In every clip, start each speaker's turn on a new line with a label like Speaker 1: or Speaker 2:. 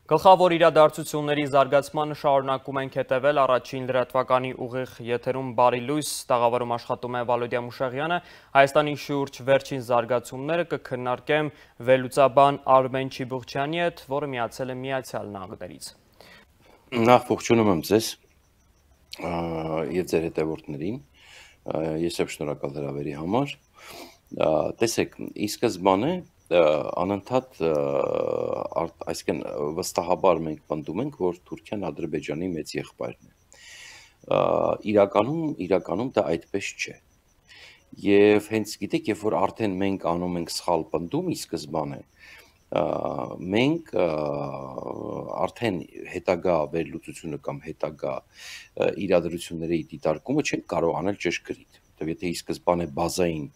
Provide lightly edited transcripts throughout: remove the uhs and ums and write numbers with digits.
Speaker 1: Գլխավոր իրադարձությունների զարգացմանը շարունակում ենք հետևել առաջին լրատվականի ուղիղ եթերում բարի լույս տաղավարում աշխատում է Վալոդիա Մուշեղյանը, Հայաստանի շուրջ վերջին զարգացումները կքննարկեմ վերլուծաբան Արմեն Չիբուղչյանի հետ, որը միացել է Միացյալ Նահանգներից։
Speaker 2: Նախ ողջունում եմ ձեզ եւ ձեր հետևորդներին, ես եմ շնորհակալ հրավերի համար, տեսեք, ի սկզբանե անընդհատ այսինքն վստահաբար մենք պնդում ենք, որ Թուրքիան Ադրբեջանի մեծ եղբայրն է։ Իրականում դա այդպես չէ։ Եվ հենց գիտեք, երբ որ արդեն մենք անում ենք սխալ պնդում ի սկզբանե, մենք արդեն հետագա վերլուծությունը կամ հետագա իրադրությունների դիտարկումը չենք կարող անել ճշգրիտ։ Որտեղ եթե ի սկզբանե բազային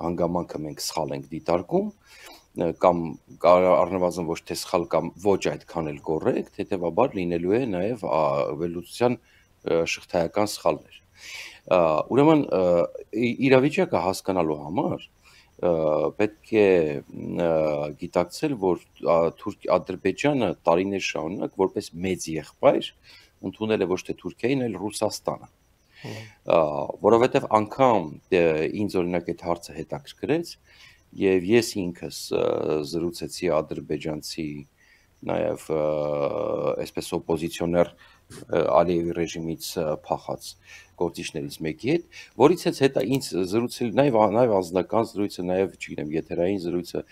Speaker 2: հանգամանքը մենք սխալ ենք դիտարկում, կամ առնվազն ոչ թե սխալ կամ ոչ այդքան էլ կոռեկտ, հետևաբար լինելու է նաև վերլուծության շղթայական սխալներ։ Ուրեմն իրավիճակը հասկանալու համար պետք է գիտակցել, որ Ադրբեջանը տարիներ շարունակ որպես մեծ եղբայր ընդունել է ոչ թե Թուրքիային, այլ Ռուսաստանը։ Որովհետև անգամ ինձ օրինակ այդ հարցը հետաքրքրեց եւ ես ինքս զրուցեցի ադրբեջանցի նաեւ այսպես օպոզիցիոներ Ալիևի ռեժիմից փախած գործիչներից մեկի հետ, որից հետո ինձ զրուցել նաեւ անձնական զրույցը, նաեւ չգիտեմ, եթերային զրույցը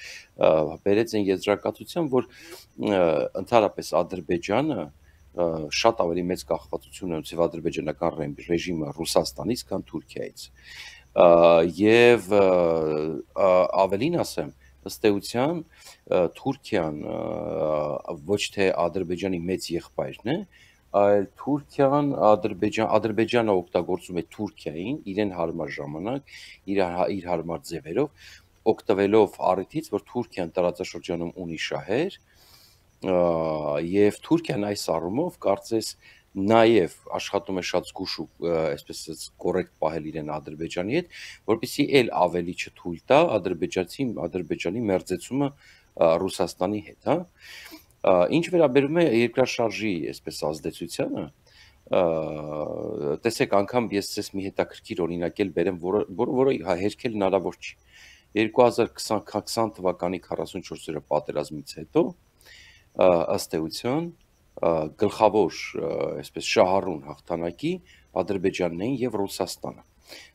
Speaker 2: բերեց այն եզրակացության, որ ընդհանրապես Ադրբեջանը շատ ավելի մեծ կախվածություն ունի ադրբեջանական ռեժիմը Ռուսաստանից, քան Թուրքիայից։ Եվ ավելին ասեմ, ըստ էության Թուրքիան ոչ թե Ադրբեջանի մեծ եղբայրն է, այլ Թուրքիան Ադրբեջանը օգտագործում է Թուրքիային իրեն հարմար ժամանակ, իր հարմար ձևերով, օգտվելով առիթից, որ Թուրքիան տարածաշրջանում ունի շահեր, եւ Թուրքիան այս առումով կարծես նաև աշխատում է շատ զգուշ ու այսպես կոռեկտ պահել իրեն Ադրբեջանի հետ, որպեսզի էլ ավելի չթույլ տա Ադրբեջանի մերձեցումը Ռուսաստանի հետ, հա։ Ինչ վերաբերում է երկրաշարժի այսպես ազդեցությանը, տեսեք, անգամ ես ցես մի հետաքրքիր օրինակ էլ բերեմ, որը հերքել հնարավոր չի։ 2020 թվականի 44-րդ պատերազմից հետո ըստ էության գլխավոր այսպես շահառուն հաղթանակի Ադրբեջանն էին եւ Ռուսաստանը։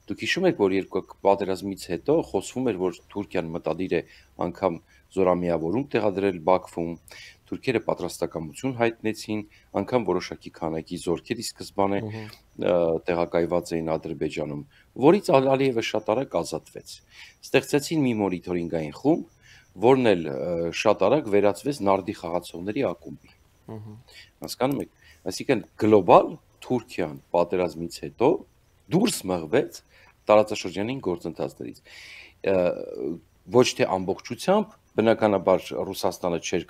Speaker 2: Դուք հիշում եք, որ երկու պատերազմից հետո խոսվում էր, որ Թուրքիան մտադիր է անգամ զորամիավորում տեղադրել Բաքվում, թուրքերը պատրաստակամություն հայտնեցին, անգամ որոշակի քանակի զորքեր ի սկզբանե տեղակայված էին Ադրբեջանում, որից Ալիևը շատ արագ ազատվեց։ Ստեղծեցին մի մոնիտորինգային խումբ, որն էլ շատ արագ վերածվեց նարդի խաղացողների ակումբի։ Հասկանում եք, այսինքն գլոբալ Թուրքիան պատերազմից հետո դուրս մղվեց տարածաշրջանային գործընթացներից։ Ոչ թե ամբողջությամբ, բնականաբար Ռուսաստանը չէր,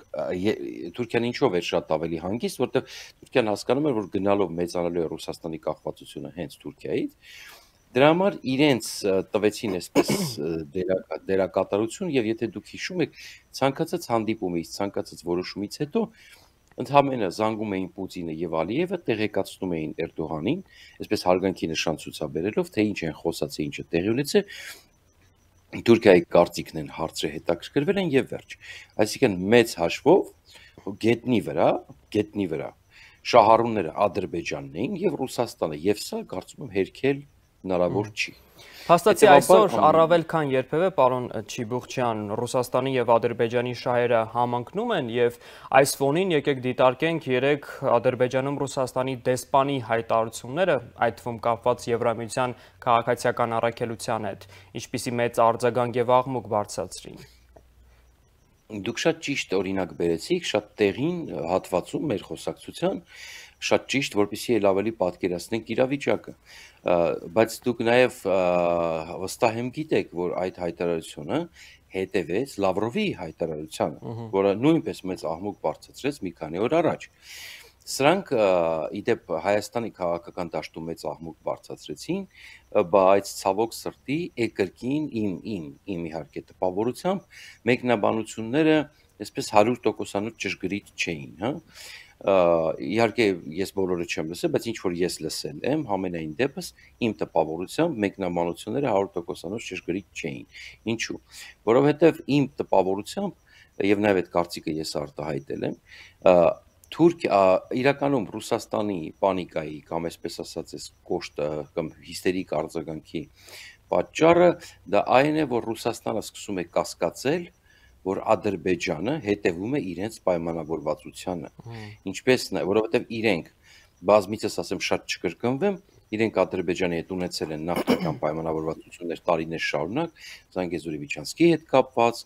Speaker 2: Թուրքիան ինչով էր շատ ավելի հանգիստ, որտեղ Թուրքիան հասկանում էր, որ գնալով մեծանալու է Ռուսաստանի կախվածությունը հենց Թուրքիայից, դրա համար իրենց տվեցին այսպես դերակատարություն, եւ եթե դուք հիշում եք, ցանկացած հանդիպումից, ցանկացած որոշումից հետո ընդհանրապես զանգում էին Պուտինը եւ Ալիևը, տեղեկացնում էին Էրդողանին, այսպես հարգանքի նշան ցուցաբերելով, թե ինչ են խոսած, ինչը տեղի ունեցել, Թուրքիայի կարծիքն են հարցրել, հետաքրքրվել են եւ վերջ։ Այսինքն մեծ հաշվով գետնի վրա շահառուները Ադրբեջանն էին եւ Ռուսաստանը, եւ սա կարծում եմ հերքել հնարավոր չի։
Speaker 1: Փաստացի այսօր առավել քան երբևէ, պարոն Չիբուղչյան, Ռուսաստանի եւ Ադրբեջանի շահերը համընկնում են եւ այս ֆոնին եկեք դիտարկենք երեք Ադրբեջանում Ռուսաստանի դեսպանի հայտարարությունները, այդ թվում կապված Եվրամիության քաղաքացիական առաքելության հետ, ինչպիսի մեծ արձագանք եւ աղմուկ բարձրացրին։
Speaker 2: Դուք շատ ճիշտ օրինակ բերեցիք, շատ տեղին հատվածում մեր խոսակցության, շատ ճիշտ, որպեսզի էլ ավելի պատկերացնենք իրավիճակը, բայց դուք նաև վստահ եմ գիտեք, որ այդ հայտարարությունը հետևեց Լավրովի հայտարարությանը, որը նույնպես մեծ աղմուկ բարձրացրեց մի քանի օր առաջ։ Սրանք իդեպ Հայաստանի քաղաքական դաշտում մեծ աղմուկ բարձրացրեցին, բայց ցավոք սրտի կրկին իմ իհարկե տպավորությամբ մեկնաբանությունները այսպես 100%-անոց ճշգրիտ չէին, հա։ Իհարկե ես բոլորը չեմ լսել, բայց ինչ որ ես լսել եմ, համենայն դեպս իմ տպավորությամբ մեկնաբանությունները 100%-անոց ճշգրիտ չէին։ Ինչու՞։ Որովհետև իմ տպավորությամբ եւ նաեւ այդ կարծիքը ես արտահայտել եմ, իրականում Ռուսաստանի պանիկայի կամ այսպես ասած այս կոշտ կամ հիստերիկ արձագանքի պատճառը դա այն է, որ Ռուսաստանը սկսում է կասկածել, որ Ադրբեջանը հետևում է իրենց պայմանավորվածությանը, ինչպես որովհետև իրենք բազմիցս ասեմ շատ չկրկնվեմ, իրենք Ադրբեջանի հետ ունեցել են նախնական պայմանավորվածություններ տարիներ շարունակ, Զանգեզուրի Վիչանսկի հետ կապված,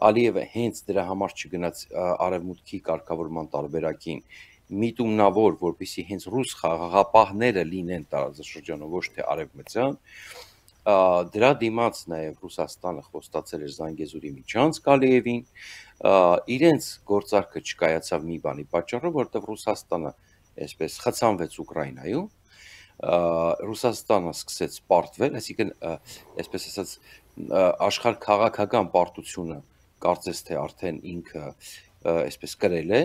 Speaker 2: Ալիևը հենց դրա համար չգնաց արևմուտքի կարգավորման տարբերակին, միտումնավոր, որպեսզի հենց ռուս խաղաղապահները լինեն տարածաշրջանում, ոչ թե արևմտյան, դրա դիմաց նաև Ռուսաստանը խոստացել էր Զանգեզուրի միջանցք Ալիևին, իրենց գործարքը չկայացավ մի բանի պատճառով, որովհետև Ռուսաստանը այսպես խցանվեց Ուկրաինայում, Ռուսաստանը սկսեց պարտվել, այսինքն այսպես ասած աշխարհ քաղաքական պարտությունը կարծես թե արդեն ինքը այսպես կրել է,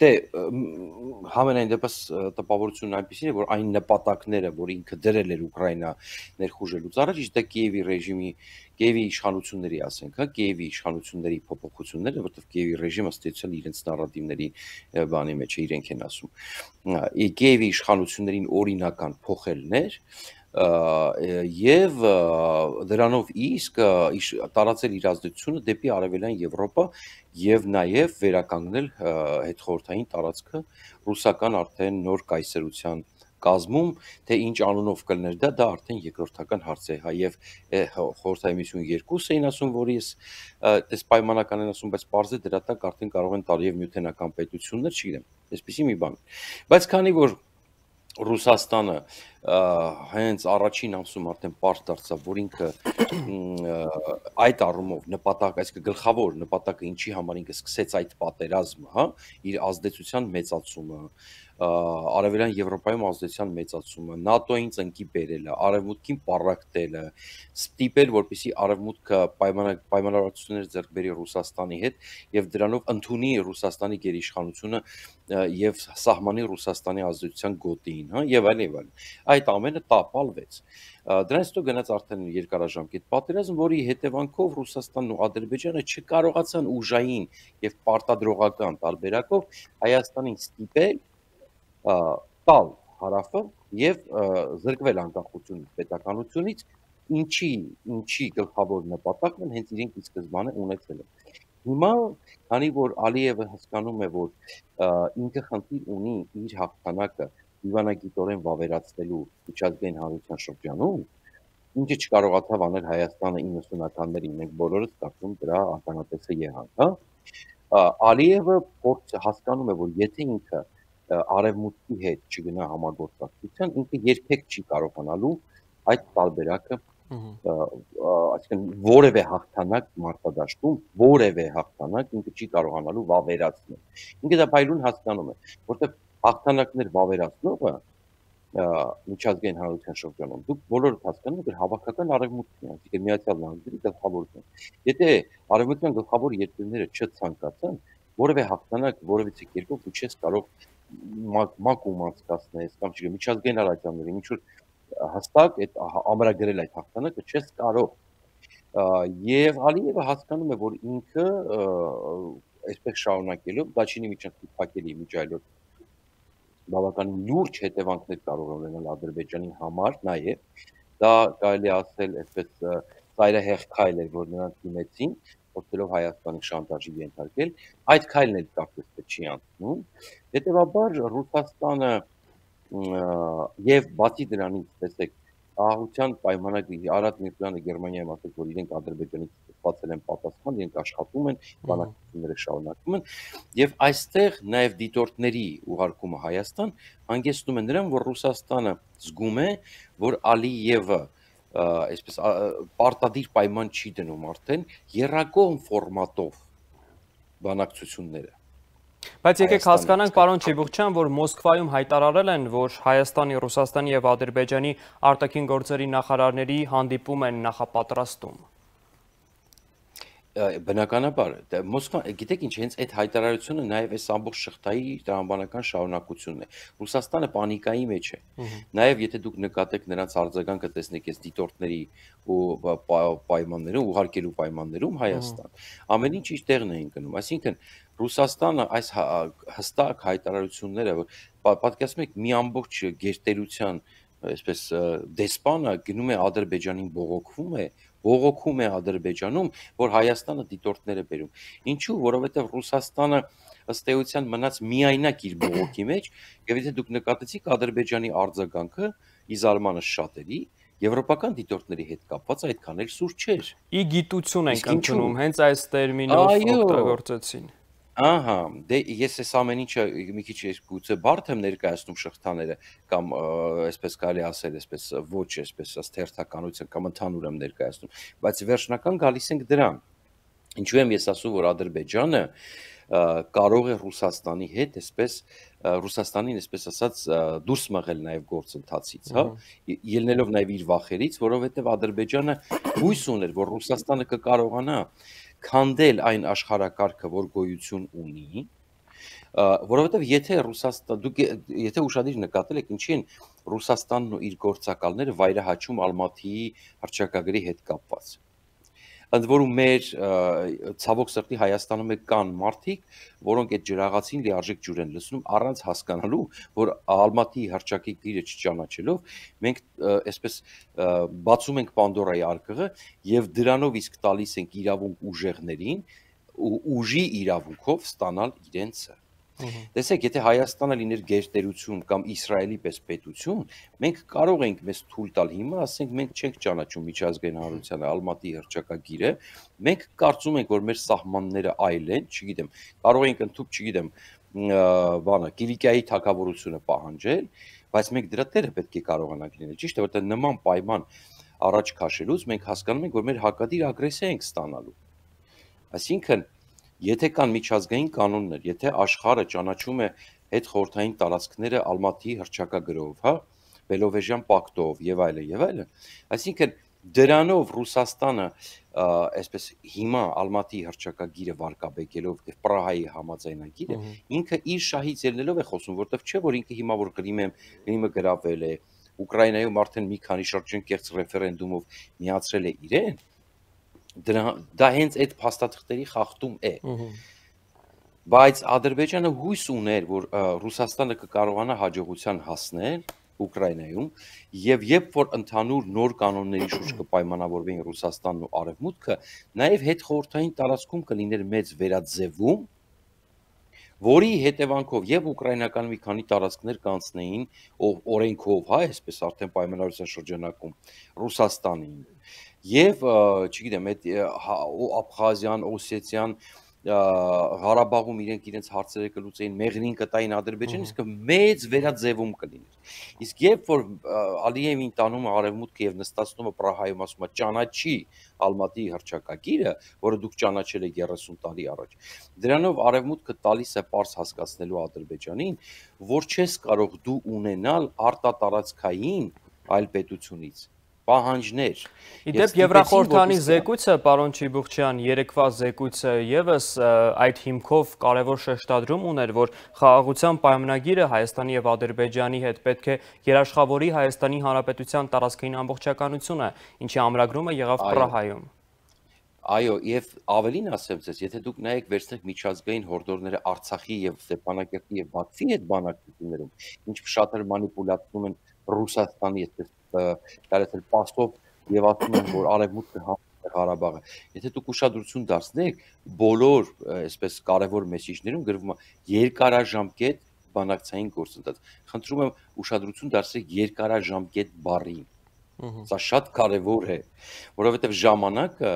Speaker 2: դե համենայն դեպս տպավորությունն այնպեսին է, որ այն նպատակները, որ ինքը դրել էր Ուկրաինա ներխուժելուց առաջ, իսկ դա Կիևի ռեժիմի, Կիևի իշխանությունների, ասենք, հա, Կիևի իշխանությունների փոփոխությունները, որտեղ Կիևի ռեժիմը ստեցել իրենց նարատիվների բանի մեջ է, իրենք են ասում։ Կիևի իշխանություններին օրինական փոխելներ եւ դրանով իսկ տարածել իր ազդեցությունը դեպի արևելյան Եվրոպա եւ նաեւ վերականգնել հետխորհրդային տարածքը ռուսական արդեն նոր կայսրության կազմում, թե ինչ անունով կլներ դա արդեն երկրորդական հարց է, հա, եւ խորհրդային միություն 2 էին ասում, որ ես դες պայմանական են ասում, բայց պարզ է դրա տակ արդեն կարող են տալ եւ նյութենական պետություններ, չգիտեմ, այսպեսի մի բան։ Բայց քանի որ Ռուսաստանը հենց առաջին ամսում արդեն պարզ դարձավ, որ ինքը այդ առումով նպատակ, այսինքն գլխավոր նպատակը ինչի համար ինքը սկսեց այդ պատերազմը, հա, իր ազդեցության մեծացումը, արևելյան Եվրոպայում ազդեցության մեծացումը, ՆԱՏՕ-ին ծնկի բերելը, արևմուտքին պառակտելը, ստիպել, որպեսզի արևմուտքը պայմանավորվածություններ ձեռք բերի Ռուսաստանի հետ եւ դրանով ընդունի Ռուսաստանի գերիշխանությունը եւ սահմանի Ռուսաստանի ազդեցության գոտին, հա, եւ այլն եւ այլն։ Այդ ամենը տապալվեց։ Դրանից հետո գնաց արդեն երկարաժամկետ պատերազմ, որի հետևանքով Ռուսաստանն ու Ադրբեջանը չկարողացան ուժային եւ պարտադրողական տարբերակով Հայաստանին ստիպել տալ հարավը եւ զրկվել անկախությունից, պետականությունից, ինչի գլխավոր նպատակն հենց իրենք ի սկզբանե ունեցել են։ Հիմա, քանի որ Ալիևը հասկանում է, որ ինքը խնդիր ունի իր հաղթանակը դիվանագիտորեն վավերացնելու միջազգային հանրության շրջանում, ինչը չկարողացավ անել Հայաստանը 90-ականներին, մենք բոլորս կարծում դրա ականատեսը եղանք, հա։ Ալիևը հասկանում է, որ եթե ինքը արևմուտքի հետ չգնա համագործակցության, ինքը երբեք չի կարողանալու այդ տարբերակը, այսինքն որևէ հաղթանակ մարտադաշտում, որևէ հաղթանակ ինքը չի կարողանալու վավերացնել։ Ինքը դա փայլուն հասկանում է, որտեղ հաղթանակներ վավերացնողը միջազգային հանրության շրջանում դուք բոլորդ հասկանում եք, որ հավաքական արևմուտքն է, այսինքն Միացյալ Նահանգների գլխավորությունը։ Եթե արևմտյան գլխավոր երկրները չցանկացան, որևէ հաղթանակ որևիցե կերպով դու չես կարող մակում անցկացնես կամ չգիտեմ միջազգային առաքյալներին ինչ որ հստակ այդ ամրագրել այդ հաղթանակը չես կարող։ Եվ Ալիևը հասկանում է, որ ինքը այսպես շարունակելով Դաչինի միջանցքի փակելի միջայլոց բավականին լուրջ հետևանքներ կարող է ունենալ Ադրբեջանի համար, նաև դա կարելի ասել այսպես ծայրահեղ քայլ էր, որ նրանք դիմեցին, փորձելով Հայաստանի շանտաժի ենթարկել, այդ քայլն էլ կարծես թե չի անցնում։ Հետևաբար Ռուսաստանը եւ բացի դրանից, տեսեք, ահության պայմանագրի Արադ Միրզյանը Գերմանիայում ասաց, որ իրենք Ադրբեջանից ստացել են պատասխան, իրենք աշխատում են, բանակցությունները շարունակում են, եւ այստեղ նաեւ դիտորդների ուղարկումը Հայաստան հանգեցնում է նրան, որ Ռուսաստանը զգում է, որ Ալիևը այսպես պարտադիր պայման չի դնում արդեն եռակողմ ֆորմատով բանակցությունները։
Speaker 1: Բայց եկեք հասկանանք, պարոն Չիբուխչյան, որ Մոսկվայում հայտարարել են, որ Հայաստանի, Ռուսաստանի եւ Ադրբեջանի արտաքին գործերի նախարարների հանդիպում են նախապատրաստում։
Speaker 2: Բնականաբար, Մոսկվան, գիտեք ինչ, հենց այդ հայտարարությունը նաև այս ամբողջ շղթայի տրամաբանական շարունակությունն է։ Ռուսաստանը պանիկայի մեջ է։ Նաև եթե դուք նկատեք նրանց արձագանքը տեսնեք այս դիտորդների ու պայմաններում, ուղարկելու պայմաններում Հայաստան, ամեն ինչ իր տեղն է ընկնում։ Այսինքն Ռուսաստանը այս հստակ հայտարարությունները, պատկերացնում եք, մի ամբողջ գերտերության այսպես դեսպանը գնում է Ադրբեջանին բողոքում է Ադրբեջանում, որ Հայաստանը դիտորդներ է բերում։ Ինչու՞, որովհետև Ռուսաստանը ըստ էության մնաց միայնակ իր բողոքի մեջ, եւ եթե դուք նկատեցիք Ադրբեջանի արձագանքը ի զարմանս շատերի, եվրոպական դիտորդների հետ կապված այդքան էլ սուր չէր։
Speaker 1: Ի գիտություն ենք ընդունում, հենց այս տերմինով օգտագործեցին։
Speaker 2: Ահա, դե ես այս ամեն ինչը մի քիչ գուցե բարդ եմ ներկայացնում շղթաները կամ այսպես կարելի ասել, այսպես ոչ այսպես ըստ հերթականության կամ ընդհանուր եմ ներկայացնում, բայց վերջնական գալիս ենք դրան։ Ինչու եմ ես ասում, որ Ադրբեջանը կարող է Ռուսաստանի հետ այսպես Ռուսաստանին այսպես ասած դուրս մղել նաև գործընթացից, հա, ելնելով նաև իր վախերից, որովհետև Ադրբեջանը հույս ուներ, որ Ռուսաստանը կկարողանա քանդել այն աշխարհակարգը, որ գոյություն ունի, որովհետև եթե ուշադիր նկատել եք, ինչի են Ռուսաստանն ու իր գործակալները վայրահաչում Ալմատիի հռչակագրի հետ կապված։ Ընդ որում մեր ցավոք սրտի Հայաստանում կան մարդիկ, որոնք այդ ջրաղացին լիարժեք ջուր են լցնում առանց հասկանալու, որ Ալմատիի հռչակագրը չճանաչելով, մենք այսպես բացում ենք Պանդորայի արկղը եւ դրանով իսկ տալիս ենք իրավունք ուժեղներին ու ուժի իրավունքով ստանալ իրենցը։ Տեսեք, եթե Հայաստանը լիներ գերտերություն կամ Իսրայելի պես պետություն, մենք կարող ենք մեզ թույլ տալ հիմա, ասենք մենք չենք ճանաչում միջազգային հանրությանը Ալմատիի հռչակագիրը, մենք կարծում ենք, որ մեր սահմանները այլ են, չգիտեմ, կարող ենք ընդཐུպ, չգիտեմ, Կիլիկիայի թագավորությունը պահանջել, բայց մենք դրա տերը պետք է կարողանանք լինել, ճիշտ է, որտեղ նման պայման առաջ քաշելուց մենք հասկանում ենք, որ մեր հակադիր ագրեսիա ենք ստանալու։ Այսինքն եթե կան միջազգային կանոններ, եթե աշխարհը ճանաչում է հետխորհրդային տարածքները Ալմատիի հռչակագրով, հա, Բելովեժյան պակտով եւ այլն, այսինքն դրանով Ռուսաստանը այսպես հիմա Ալմատիի հռչակագիրը վարկաբեկելով եւ Պրահայի համաձայնագիրը ինքը իր շահից ելնելով է խոսում, որտեվ չէ որ ինքը հիմա որ Գրիմը գրավել է, Ուկրաինայում արդեն մի քանի շրջանկեղծ ռեֆերենդումով միացրել է իրեն, դա հենց այդ փաստաթղթերի խախտում է։ Բայց Ադրբեջանը հույս ուներ, որ Ռուսաստանը կկարողանա հաջողության հասնել Ուկրաինայում եւ երբ որ ընդհանուր նոր կանոնների շուրջ կպայմանավորվեին Ռուսաստանն ու Արևմուտքը, նաեւ հետխորհրդային տարածքում կլիներ մեծ վերաձևում, որի հետևանքով եւ ուկրաինական մի քանի տարածքներ կանցնեին օրենքով, հա, այսպես արդեն պայմանավորության շրջանակում Ռուսաստանին։ Եվ չգիտեմ, այդ Աբխազիան, Օսետիան, Ղարաբաղում իրենց հարցերը կլուծեին, մեղրին կտային Ադրբեջանին, իսկ մեծ վերաձևում կլիներ։ Իսկ երբ որ Ալիևին տանում է Արևմուտքը եւ նստացնում է Պրահայում, ասում է ճանաչի Ալմատիի հռչակագիրը, որը դուք ճանաչել եք 30 տարի առաջ, դրանով Արևմուտքը տալիս է պարզ հասկացնելու Ադրբեջանին, որ չես կարող դու ունենալ արտատարածքային այլ պետությունից պահանջներ։
Speaker 1: Իդեպ Եվրախորհրդանի զեկույցը, պարոն Չիբուխչյան, երեկվա զեկույցը եւս այդ հիմքով կարևոր շեշտադրում ուներ, որ խաղաղության պայմանագիրը Հայաստանի եւ Ադրբեջանի հետ պետք է երաշխավորի Հայաստանի Հանրապետության տարածքային ամբողջականությունը, ինչի ամրագրումը եղավ Պրահայում։
Speaker 2: Այո, եւ ավելին ասեմ ձեզ, եթե դուք նայեք վերցնեք միջազգային հորդորները Արցախի եւ Ստեփանակերտի եւ Բաքվի հետ բանակցություններում, ինչ շատ էլ մանիպուլացնում են Ռուսաստանի այսպես կարծել պաստով եւ ասում են, որ արևմուտքը հանձնել է Ղարաբաղը։ Եթե դուք ուշադրություն դարձնեք, բոլոր այսպես կարևոր մեսիջներում գրվում է երկարաժամկետ բանակցային գործընթաց։ Խնդրում եմ ուշադրություն դարձրեք երկարաժամկետ բառին։ Սա շատ կարևոր է, որովհետեւ ժամանակը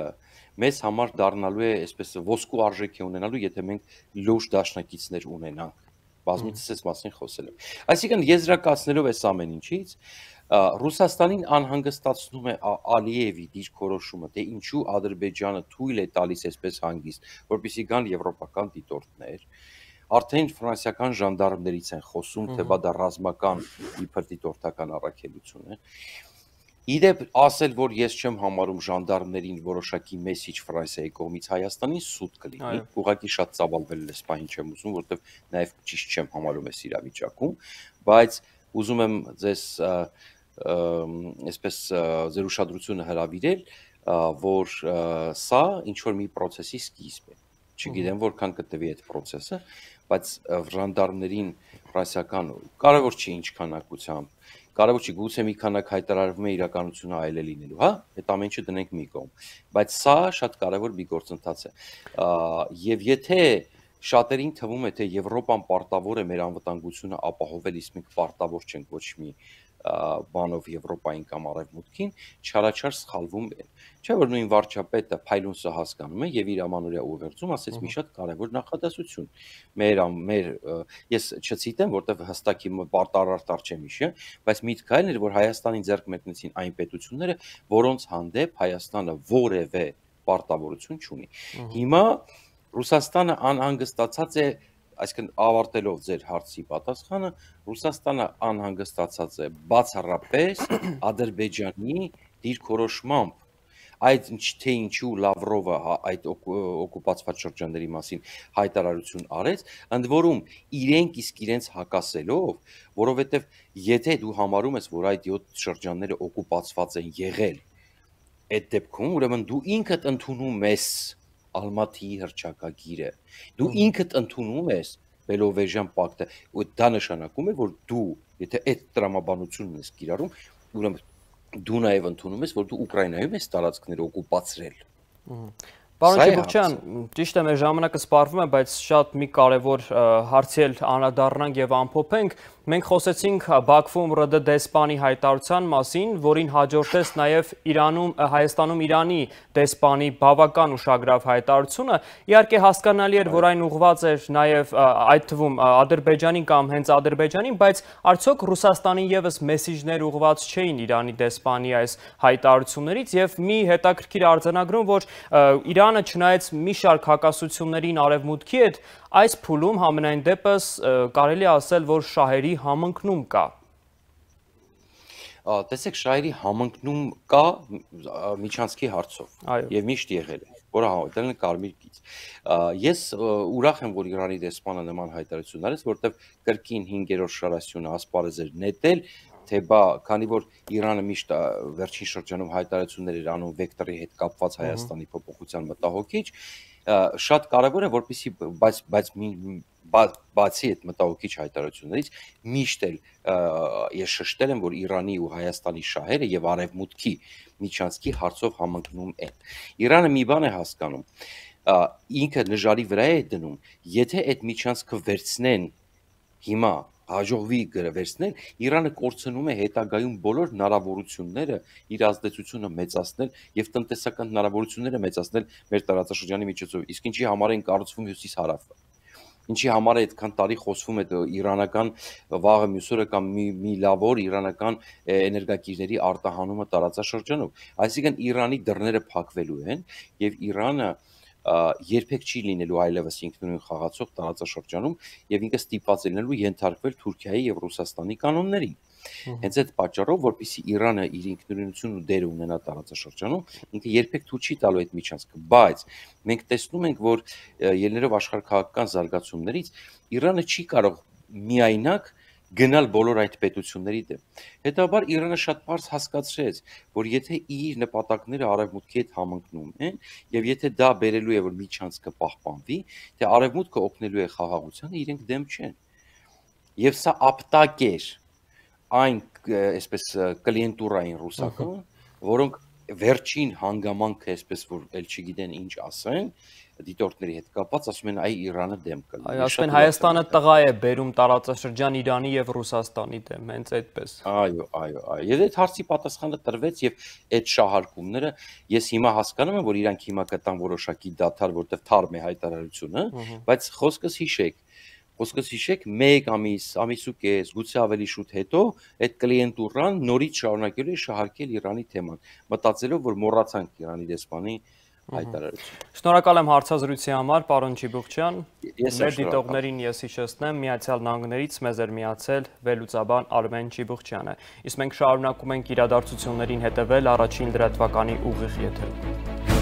Speaker 2: մեզ համար դառնալու է այսպես ոսկու արժեք է ունենալու, եթե մենք լուրջ դաշնակիցներ ունենանք։ Բազմիցս այս մասին խոսել եմ։ Այսինքն եզրակացնելով այս ամեն ինչից, Ռուսաստանին անհանգստացնում է Ալիևի դիրքորոշումը, թե ինչու Ադրբեջանը թույլ է տալիս այսպես հանգիստ, որպեսզի գան եվրոպական դիտորդներ, արդեն ֆրանսիական ժանդարմներից են խոսում, թե դա ռազմական իբր դիտորդական առաքելություն է։ Իդեպ ասել, որ ես չեմ համարում ժանդարմներին որոշակի մեսիջ Ֆրանսիայի կողմից Հայաստանին սուտ կլինի, ուղղակի շատ ծավալվել է սպահին չեմ ուզում, որովհետև նաև ճիշտ չեմ համարում այս իրավիճակում, բայց ուզում եմ ձեզ այսպես ձեր ուշադրությունը հրավիրել, որ սա ինչ որ մի process-ի սկիզբ է։ Չգիտեմ որքան կտևի այդ process-ը, բայց ժանդարմներին ֆրանսիական կարևոր չի ինչ քանակությամբ, կարևոր չի, գուցե մի քանակ հայտարարվում է իրականությունը այլ է լինելու, հա, այդ ամեն ինչը դնենք մի կողմ, բայց սա շատ կարևոր մի գործընթաց է։ Եվ եթե շատերին թվում է, թե Եվրոպան պարտավոր է մեր անվտանգությունը ապահովել, իսկ մենք պարտավոր չենք ոչ մի բանով Եվրոպային կամ Արևմուտքին, չարաչար սխալվում են։ Չէ՞ որ նույն վարչապետը Փայլունսը հասկանում է եւ իր ամանորյա ուղերձում ասեց մի շատ կարևոր նախադասություն։ Ես չցիտեմ, որտեվ հստակ իմ պարտարարտար չեմ հիշի, բայց միտքայլն էր, որ Հայաստանին ձեռք մեկնեցին այն պետությունները, որոնց հանդեպ Հայաստանը որևէ պարտավորություն չունի։ Հիմա Ռուսաստանը անհանգստացած է, այսինքն ավարտելով ձեր հարցի պատասխանը, Ռուսաստանը անհանգստացած է բացառապես Ադրբեջանի դիրքորոշմամբ, այդ թե ինչու Լավրովը այդ օկուպացված շրջանների մասին հայտարարություն արեց, ընդ որում իրենք իսկ իրենց հակասելով, որովհետև եթե դու համարում ես, որ այդ 7 շրջանները օկուպացված են եղել, այդ դեպքում ուրեմն դու ինքդ ընդունում ես Ալմատիի հռչակագիրը, դու ինքդ ընդունում ես Բելովեժյան պակտը, դա նշանակում է, որ դու, եթե այդ տրամաբանությունն ես կիրառում, ուրեմն դու նաև ընդունում ես, որ դու Ուկրաինայում ես տարածքները օկուպացրել։
Speaker 1: Պարոն Չիբուխչյան, ճիշտ է, մեր ժամանակը սպառվում է, բայց շատ մի կարևոր հարցի էլ անդրադառնանք եւ ամփոփենք։ Մենք խոսեցինք Բաքվում ՌԴ դեսպանի հայտարարության մասին, որին հաջորդեց նաև Հայաստանում Իրանի դեսպանի բավական ուշագրավ հայտարարությունը։ Իհարկե հասկանալի էր, որ այն ուղղված էր նաև այդ թվում Ադրբեջանին կամ հենց Ադրբեջանին, բայց արդյոք Ռուսաստանին եւս մեսիջներ ուղղված չէին Իրանի դեսպանի այս հայտարարություններից եւ մի հետաքրքիր արձանագրում, որ Իրանը չնայած մի շարք հակասություններին Արևմուտքի հետ, այս փուլում համենայն դեպս կարելի է ասել, որ շահերի համընկնում կա։
Speaker 2: Տեսեք, շահերի համընկնում կա միջանցքի հարցով եւ միշտ եղել է, որը դրել են կարմիր գիծ։ Ես ուրախ եմ, որ Իրանի դեսպանը նման հայտարարություն արեց, որովհետեւ կրկին 5-րդ շարասյունը ասպարեզ էր նետել, թե բա, քանի որ Իրանը միշտ վերջին շրջանում հայտարարություններ էր անում վեկտորի հետ կապված Հայաստանի փոփոխության մտահոգիչ, շատ կարևոր է, որպեսզի բացի այդ մտահոգիչ հայտարարություններից միշտ էլ ես շեշտել եմ, որ Իրանի ու Հայաստանի շահերը եւ Արևմուտքի միջանցքի հարցով համընկնում են։ Իրանը մի բան է հասկանում, ինքը նժարի վրա է դնում, եթե այդ միջանցքը վերցնեն հիմա հաջողվի վերցնել, Իրանը կորցնում է հետագայում բոլոր հնարավորությունները իր ազդեցությունը մեծացնել եւ տնտեսական հնարավորությունները մեծացնել մեր տարածաշրջանի միջոցով։ Իսկ ինչի համար են կառուցվում հյուսիս-հարավը։ Ինչի համար է այդքան տարի խոսվում է իրանական վաղը մյուս օրը կամ մի լավ օր իրանական էներգակիրների արտահանումը տարածաշրջանում։ Այսինքն Իրանի դռները փակվելու են եւ Իրանը երբեք չի լինելու այլևս ինքնուրույն խաղացող տարածաշրջանում եւ ինքը ստիպված է լինելու ենթարկվել Թուրքիայի եւ Ռուսաստանի կանոններին։ Հենց այդ պատճառով, որպեսզի Իրանը իր ինքնուրույնությունն ու դերը ունենա տարածաշրջանում, ինքը երբեք թույլ չի տալու այդ միջանցքը, բայց մենք տեսնում ենք, որ ելնելով աշխարհաքաղաքական զարգացումներից Իրանը չի կարող միայնակ գնալ բոլոր այդ պետությունների դեմ։ Հետաբար Իրանը շատ բարձ հասկացրեց, որ եթե իր նպատակները Արևմուտքի հետ համընկնում են, եւ եթե դա բերելու է, որ միջանցքը պահպանվի, թե Արևմուտքը օգնելու է խաղաղությանը, իրենք դեմ չեն։ Եվ սա ապտակ էր այն այսպես կլիենտուրային ռուսական, որոնք վերջին հանգամանքը, այսպես որ էլ չգիտեն ինչ ասեն, դիտորդների հետ կապված, ասում են այ Իրանը դեմ կլինի։
Speaker 1: Այո, ասում են Հայաստանը տղա է բերում տարածաշրջան Իրանի եւ Ռուսաստանի դեմ, հենց այդպես։
Speaker 2: Այո։ Եվ այդ հարցի պատասխանը տրվեց եւ այդ շահարկումները ես հիմա հասկանում եմ, որ իրանք հիմա կտան որոշակի դադար, որտեղ թարմ է հայտարարությունը, բայց խոսքս հիշեք 1 ամիս ու կես, գուցե ավելի շուտ հետո այդ կլիենտուրան նորից շարունակելու է շահարկել Իրանի թեման, մտածելով, որ մոռացանք Իրանի դեսպանի հայտարարություն։
Speaker 1: Շնորհակալ եմ հարցազրույցի համար, պարոն Չիբուխչյան։
Speaker 2: Ես
Speaker 1: Մեր դիտողներին ես հիշեցնեմ, Միացյալ Նահանգներից մեզ էր միացել վերլուծաբան Արմեն Չիբուխչյանը։ Իսկ մենք շարունակում ենք իրադարձություններին հետևել առաջին լրատվականի ուղիղ եթերում։